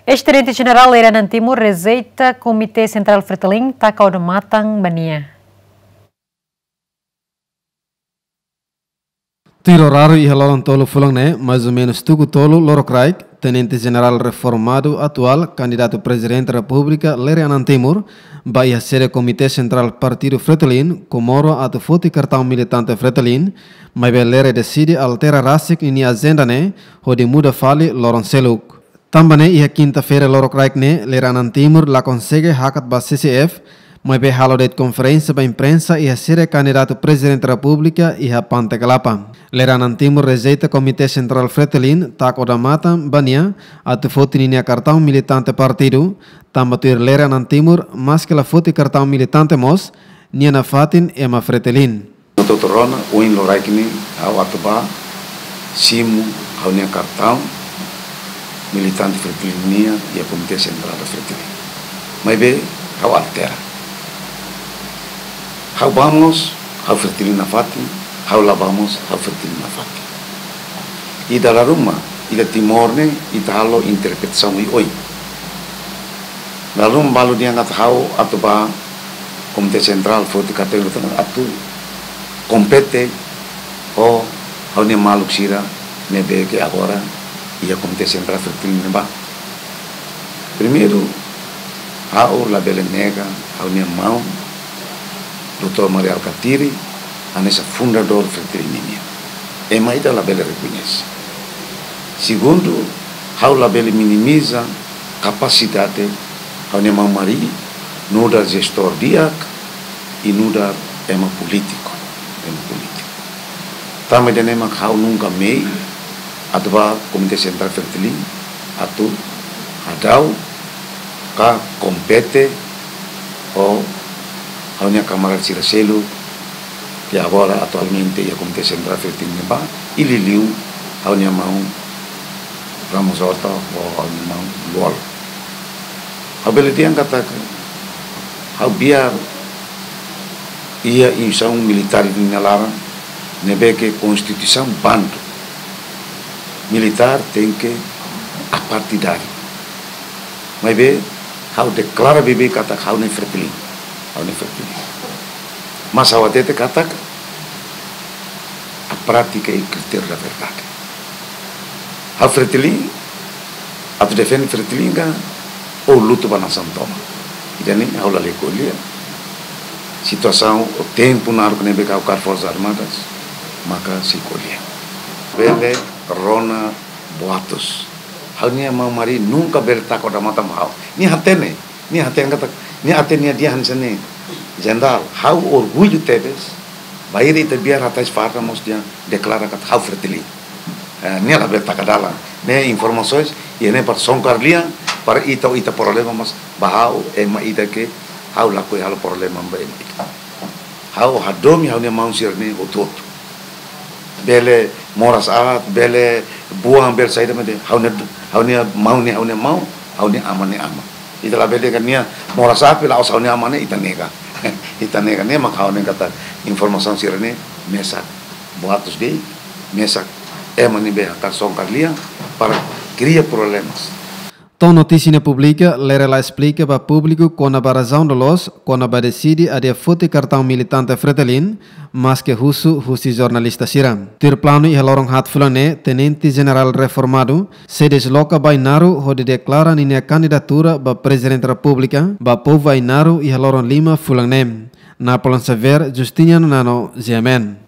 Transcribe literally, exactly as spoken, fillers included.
Eis-Tenente Jenerál Lere Anan Timur rejeita Komité Sentrál Fretilin taka odamatan ba nia. Tuir oráriu iha loron tolu fulan ne'e, mais ou menus tuku tolu lorokraik, Tenente Jenerál reformadu atuál, kandidatu Prezidente Repúblika Lere Anan Timur, bá iha sede Komité Sentrál Partidu Fretilin, Comoro atu foti kartaun militante Fretilin, maibé Lere deside altera rasik ninia ajenda ne'e, hodi muda fali loron seluk. Tanba ne'e iha kinta-feira lorokraik ne'e, Lere Anan Timur la konsege hakat ba C C F, maibé halo de'it konferénsia ba imprensa iha sede kandidatu Prezidente Repúblika iha Pante Kalapa. Lere Anan Timur rejeita Komité Sentrál Fretilin taka odamatan ba nia atu foti ninia kartaun militante partidu, tanba tuir Lere Anan Timur, maske la foti kartaun militante mós, nia nafatin ema Fretilin. Doutór Rona, ohin loraik ne'e, ha'u atu bá simu ha'u-nia kartaun militante Fretilin nian iha Komité Sentrál Fretilin. Maibé, ha'u altera. Ha'u bá mós, ha'u Fretilin nafatin, ha'u la bá mós, ha'u Fretilin nafatin. I dala ruma, ita Timor ne'e, ita halo interpretasaun oioin. Dala ruma balu dehan katak ha'u atu bá Komité Sentrál, foti kartaun atu kompete ho ha'u-nia maluk sira ne'ebé ke agora iha Komité Sentrál Fretilin ne'ebá. Primeiru, ha'u labele nega ha'u-nia maun, Doutór Mari Alkatiri, hanesan fundadór Fretilin nian. Ema ida labele rekoñese. Segundu, ha'u labele minimiza kapasidade ha'u-nia maun Mari nu'udar jestór di'ak i nu'udar ema polítiku, ema polítiku. Tanba ida-ne'e mak ha'u nunka mehi atu bá Komité Sentrál Fretilin atu hadau ka kompete ho ha'u-nia kamarada sira seluk ke agora atualmente iha Komité Sentrál Fretilin ne'ebá, i liuliu ha'u-nia maun Ramos Horta ho ha'u-nia maun Lú-Olo. Ha'u bele dehan katak ha'u biar iha instituisaun militár ida-ne'e nia laran, ne'ebé ke konstituisaun bandu militár tenke apartidáriu. Maibé, ha'u deklara beibeik katak ha'u ne'e Fretilin. Ha'u ne'e Fretilin. Mas ha'u hatete katak a prátika é critério da verdade. Ha'u Fretilin, atu defende Fretilin ka, ou luta ba nasaun tomak. Ida-ne'e ha'u lalika ko'alia. Situasaun ou tempu naruk ne'ebé ke ha'u kaer Forsas Armadas, maka sei ko'alia. Bele rona boatus. Ha'u-nia maun Mari nunka bele taka odamatan ba ha'u. Nia hatene, nia hatene katak, nia hatene nia dehan hanesan ne'e. Jenerál, ha'u orgullu tebes, bainhira ita biar hatais farda mós dehan deklara katak ha'u Fretilin. Eh, nia labele taka dalan. Ne'e informasaun, i ne'e para songkar lian, para ita, ita problema mós ba ha'u, ema ida ke ha'u lakohi halo problema ba ema ida. Ha'u hadomi ha'u-nia maun sira-ne'e hotu-hotu. Bele moras aat, bele buan, bele saida mate. Ha'u-nia, ha'u-nia maun ne'e, ha'u-nia maun, ha'u-nia aman ne'e aman. Ita labele dehan nia moras aat, la'ós ha'u-nia aman ne'e, ita nega. Ita nega, ne'e mak ha'u dehan katak informasaun sira-ne'e mesak boatus de'it, mesak ema ne'ebé hakarak songkar lian para kria problemas. To'o notísia ne'e publika, Lere la esplika ba públiku kona-ba razaun loloos, kona-ba deside adia foti kartaun militante Fretilin, maske husu husi jornalista sira. Tuir planu iha loron haat fulan ne'e, Tenente Jenerál reformadu, sei desloka ba Ainaro hodi deklara ninia kandidatura ba Prezidente Repúblika, ba povu Ainaro iha loron lima fulan ne'e. Napoleon Xavier, Justiniano Nano, G M N.